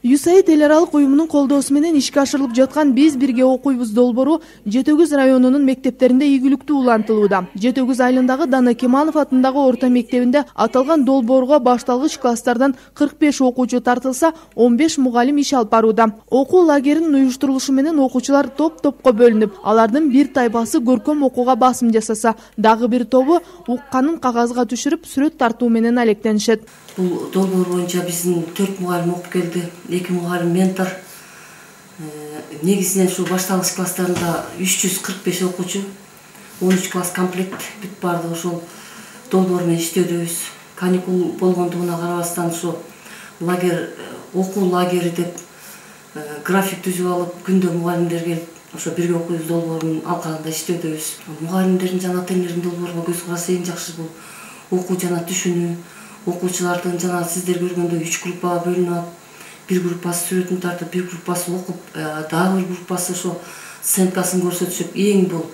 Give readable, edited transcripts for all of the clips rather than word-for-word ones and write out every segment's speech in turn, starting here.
USAID эл аралык уюмунун колдоосу менен ишке ашырылып жаткан Биз бирге окуйбуз долбоору Жети Өгүз районунун мектептеринде ийгиликтүү улантылууда. Жети Өгүз айылындагы Дана Кемалов атындагы орто мектебинде аталган долбоорго башталгыч класстардан 45 окуучу тартылса, 15 мугалим иш алып барууда. Окуу лагеринин уюштурулушу менен окуучулар топ-топко бөлүнүп, алардын бир тайпасы көркөм окууга басым жасаса, дагы бир тобу укканын кагазга түшүрүп, сүрөт тартуу менен алектенишет. Бул долбоор боюнча биздин 4 мугалим окуп келди, 2 мугалим ментор. Негизинен ушу башталгыч класстарында 345 окуучу, 13 класс комплект бүт барды ошол долбоор менен иштөөдөбүз. Каникул болгондугуна карабастан ушу лагерь, окуу лагери деп график түзүп алып, күндө мугалимдер келип, ошо бирге окуйбуз долбоорунун алкагында иштөөдөбүз. Мугалимдердин жана ата-энелердин долбоорго көз карашы эң жакшы бул окуу жана түшүнүү. Окуучулардын жана сиздер көргөндөй 3 группага бөлүнүп алып, бир группасы сүрөтүн тартып, бир группасы окуп, дагы бир группасы ошо сценкасын көрсөтүшүп, эң бул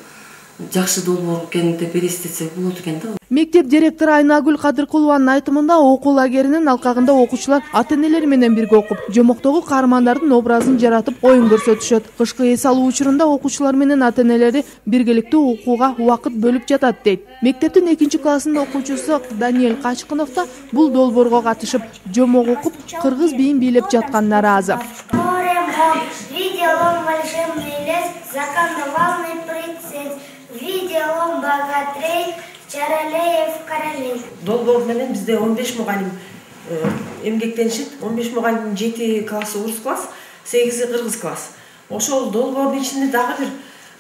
жакшы долбоор экен деп элестетсек болот экен да. Мектеп директору Айнагүл Кадыркулованын айтымында окуу лагеринин алкагында окуучулар ата-энелери менен бирге окуп, жомоктогу каармандардын образын жаратып, оюн көрсөтүшөт. Кышкы эс алуу учурунда окуучулар менен ата-энелери биргеликтүү окууга убакыт бөлүп жатат дейт. Мектептин 2-классынын окуучусу Даниэль Качкынов да бул долбоорго катышып, жомок окуп, кыргыз биин бийлеп жатканына ыраазы. Долбоор менен бизде 15 мугалим эмгектенишет. 15 мугалимдин 7 классы орус класс, 8 кыргыз класс. Ошол долбоордун ичинде дагы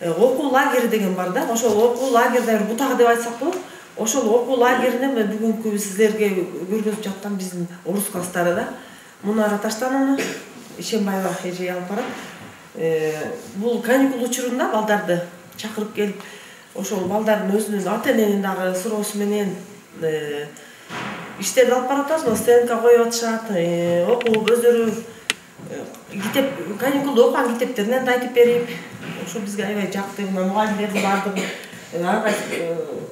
бир окуу лагери деген бар да. Ошол окуу лагерде бир бутак деп айтсак болот. Ошол окуу лагерине бүгүнкү сиздерге көргөзүп жаткан биздин орус класстары да. Мунара Таштанова, Ишембаева эже алып барат. Бул каникул учурунда балдарды чакырып келип, ошол балдардын өзүнүн ата-эненин дагы суроосу менен иштерди алып барып атабыз. Стенка коюп атышат, окуп өздөрү китеп, каникулда окуган китептеринен да айтып берип, ошо бизге аябай жакты. Мугалимдердин баардыгы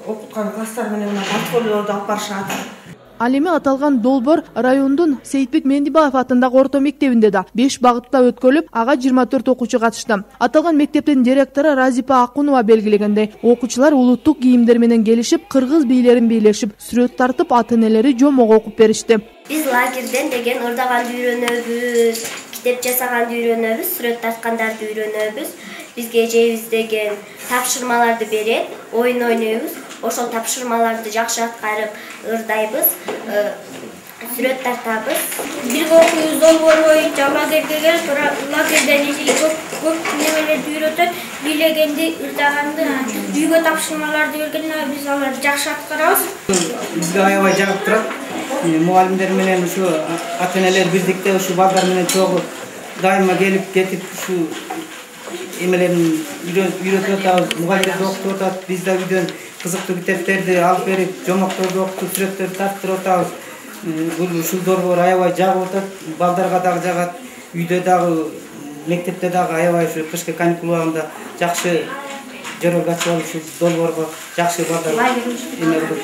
окуткан класстар менен портфолиолорду алып барышат. Ал эми аталган долбоор райондун Сейитбек Мендибаев атындагы орто мектебинде да 5 багытта өткөрүлүп, ага 24 окуучу катышты. Аталган мектептин директору Разипа Акунова белгилегендей, окуучулар улуттук кийимдер менен келишип, кыргыз бийлерин бийлешип, сүрөт тартып, ата-энелери жомок окуп беришти. Биз лагерден деген ырдаганды үйрөнөбүз, китеп жасаганды үйрөнөбүз, сүрөт тарткандарды үйрөнөбүз. Бизге эжебиз деген тапшырмаларды берет, оюн ойнойбуз. Ошол тапшырмаларды жакшы аткарып ырдайбыз, сүрөт тартабыз. Бирге окуйбуз долбоор боюнча лагерге келип, лагерден көп немелерди үйрөтөт, бийлегенди, ырдаганды, үйгө тапшырмаларды бергенде биз аларды жакшы аткарабыз. Бизге аябай жагып турат. Мугалимдер менен ушу ата-энелер бирдикте ушу балдар менен чогуу дайыма келип кетип ушу эмелерин үйрөтүп атабыз, мугалимдер окутуп атат. Биз да үйдөн кызыктуу китептерди алып берип, жомокторду окутуп, сүрөттөрдү тартып атабыз. Ушул долбоор аябай жагып атат, балдарга дагы жагат. Үйдө дагы, мектепте дагы аябай ушу кышкы каникул убагында жакшы жөрөк ачып алып ушул долбоорго жакшы балдар эме кылып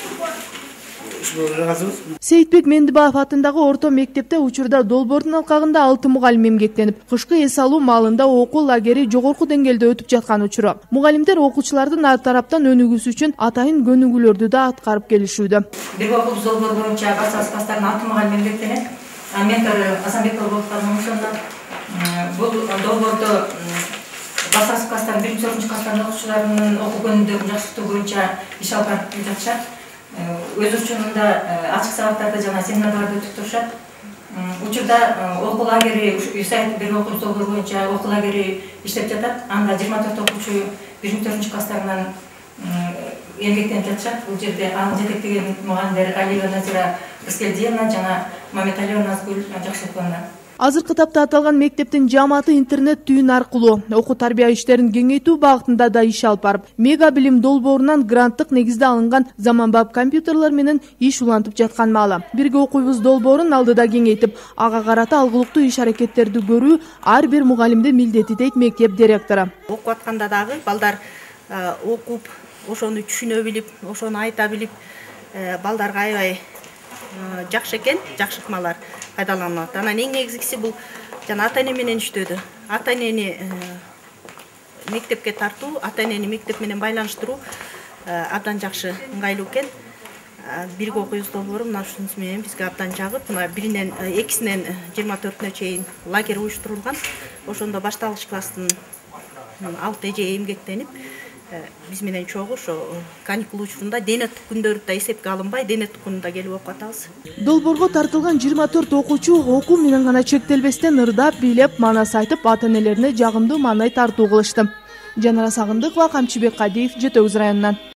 Сейитбек Мендибаев атындагы орто мектепте учурда долбоордун алкагында 6 мугалим эмгектенип, кышкы эс алуу маалында окуу лагери жогорку деңгээлде өтүп жаткан учуру. Мугалимдер окуучулардын ар тараптан өнүгүүсү үчүн атайын көнүгүүлөрдү да аткарып келишүүдө. Бирге окуйбуз долбоор боюнча башталгыч класстардан 6 мугалим эмгектенет. Ментор Асанбекова болгондуктан ошондо бул долбоордо башталгыч класстардын 1-4 класстардын окуучуларынын окуу көнүгүүлөрүн жакшыртуу боюнча иш алып барып жатышат. Өз учурунда ачык сабактарды жана семинарларды өтүп турушат. Учурда окуу лагери USAID бирге окуйбуз долбоор боюнча окуу лагери иштеп жатат. Анда 24 окуучу 1-4 класстарынан эмгектенип жатышат. Бул жерде аны жетектеген мугалимдер Алиева Назира Рыскелдиевна жана Мамедалиева Назгүл Жакшылыковна. Азыркы тапта аталган мектептин жааматы интернет түйүн аркылуу окуу тарбия иштерин кеңейтүү багытында да иш алып барып, мега билим долбоорунан гранттык негизде алынган заманбап компьютерлер менен иш улантып жаткан маалы. Бирге окуйбуз долбоорун алдыда кеңейтип, ага карата алгылыктуу иш аракеттерди көрүү ар бир мугалимдин милдети дейт мектеп директору. Окуп атканда дагы балдар окуп, ошону түшүнө билип, ошону айта билип, балдарга аябай жакшы экен, жакшы ыкмалар пайдаланылат. Анан эң негизгиси бул жана ата эне менен иштөөдө. Ата энени мектепке тартуу, ата энени мектеп менен байланыштыруу абдан жакшы, ыңгайлуу экен. Бирге окуйбуз долбоору мына ушунусу менен бизге абдан жагып, мына 2-синен 24-нө чейин лагерь уюштурулган. Ошондо башталгыч класстын 6 эже эмгектенип, биз менен чогуу ошо каникул учурунда дене күндөрү да эсепке алынбай, дене күнүндө келип окуп атабыз. Долбоорго тартылган 24 окуучу окуу менен гана чектелбестен ырдап, бийлеп, манас айтып, ата энелерине жагымдуу маанай тартуу кылышты. Жанара Сагындыкова, Камчыбек Кадиев, Жети Өгүз районунан.